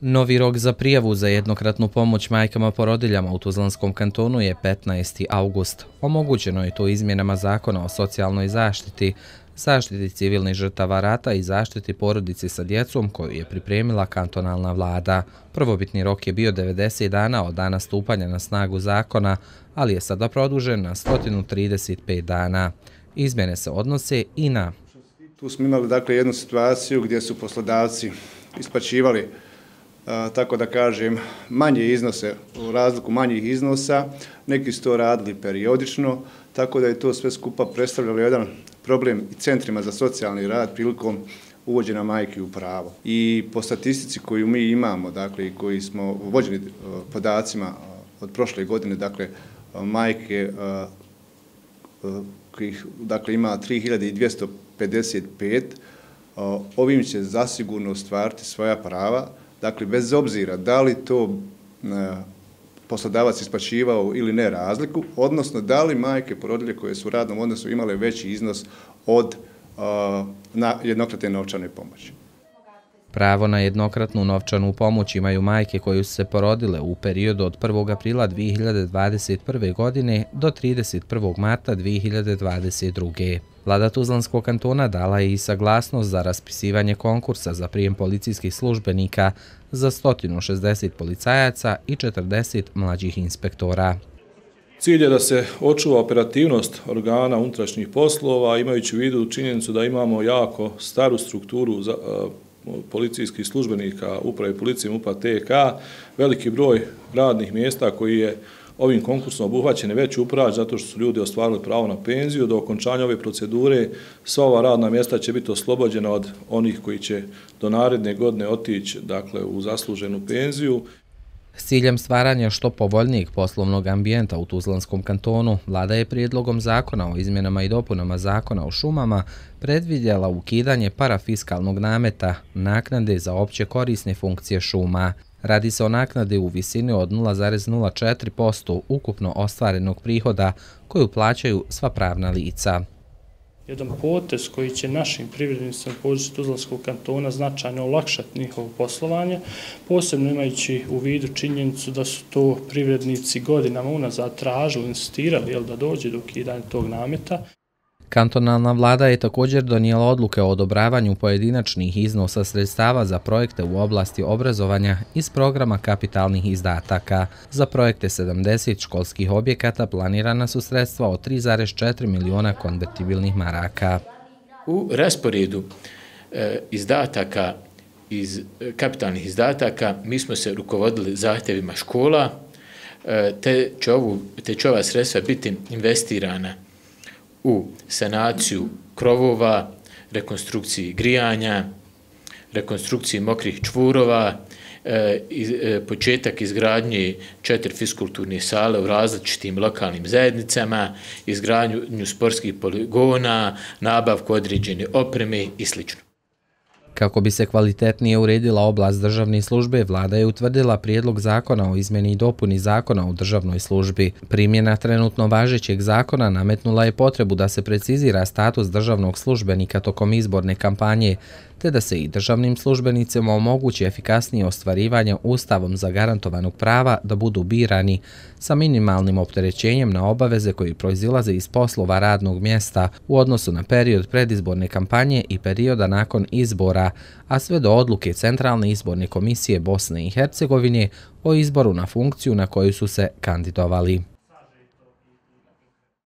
Novi rok za prijavu za jednokratnu pomoć majkama porodiljama u Tuzlanskom kantonu je 15. august. Omogućeno je to izmjenama Zakona o socijalnoj zaštiti, zaštiti civilnih žrtava rata i zaštiti porodici sa djecom koju je pripremila kantonalna vlada. Prvobitni rok je bio 90 dana od dana stupanja na snagu zakona, ali je sada produžen na 135 dana. Izmjene se odnose i na... Tu smo imali jednu situaciju gdje su poslodavci isplaćivali, tako da kažem, manje iznose, u razliku manjih iznosa, neki su to radili periodično, tako da je to sve skupa predstavljalo jedan problem i centrima za socijalni rad prilikom uvođenja majki u pravo. I po statistici koju mi imamo, i koji smo vođeni podacima od prošle godine, majke kojih ima 3255, ovim će zasigurno ostvariti svoja prava, bez obzira da li to poslodavac isplaćivao ili ne razliku, odnosno da li majke porodilje koje su u radnom odnosu imale veći iznos od jednokratne novčane pomoći. Pravo na jednokratnu novčanu pomoć imaju majke koje su se porodile u periodu od 1. aprila 2021. godine do 31. marta 2022. Vlada Tuzlanskog kantona dala je i saglasnost za raspisivanje konkursa za prijem policijskih službenika za 160 policajaca i 40 mlađih inspektora. Cilj je da se očuva operativnost organa unutrašnjih poslova, imajući u vidu činjenicu da imamo jako staru strukturu policijskih službenika uprave policije MUP-a TK, veliki broj radnih mjesta koji je ovim konkursom obuhvaćen je već upražen zato što su ljudi ostvarili pravo na penziju. Do okončanja ove procedure sva ova radna mjesta će biti oslobođena od onih koji će do naredne godine otići u zasluženu penziju. S ciljem stvaranja što povoljnijeg poslovnog ambijenta u Tuzlanskom kantonu, vlada je prijedlogom zakona o izmjenama i dopunama Zakona o šumama predvidjela ukidanje parafiskalnog nameta, naknade za opće korisne funkcije šuma. Radi se o naknadi u visini od 0,04% ukupno ostvarenog prihoda koju plaćaju sva pravna lica. Jedan potez koji će našim privrednicima na području Tuzlanskog kantona značajno olakšati njihovo poslovanje, posebno imajući u vidu činjenicu da su to privrednici godinama unazad tražili, insistirali da dođe do ukidanja tog nameta. Kantonalna vlada je također donijela odluke o odobravanju pojedinačnih iznosa sredstava za projekte u oblasti obrazovanja iz programa kapitalnih izdataka. Za projekte 70 školskih objekata planirana su sredstva od 3,4 miliona konvertibilnih maraka. U rasporedu izdataka iz kapitalnih izdataka mi smo se rukovodili zahtjevima škola, te će ova sredstva biti investirana u sanaciju krovova, rekonstrukciji grijanja, rekonstrukciji mokrih čvurova, početak izgradnje 4 fiskulturne sale u različitim lokalnim zajednicama, izgradnju sportskih poligona, nabavku određene opreme i sl. Kako bi se kvalitetnije uredila oblast državne službe, vlada je utvrdila prijedlog zakona o izmjeni i dopuni Zakona o državnoj službi. Primjena trenutno važećeg zakona nametnula je potrebu da se precizira status državnog službenika tokom izborne kampanje, te da se i državnim službenicima omogući efikasnije ostvarivanje Ustavom zagarantovanog prava da budu birani sa minimalnim opterećenjem na obaveze koji proizilaze iz poslova radnog mjesta u odnosu na period predizborne kampanje i perioda nakon izbora, a sve do odluke Centralne izborne komisije Bosne i Hercegovine o izboru na funkciju na koju su se kandidovali.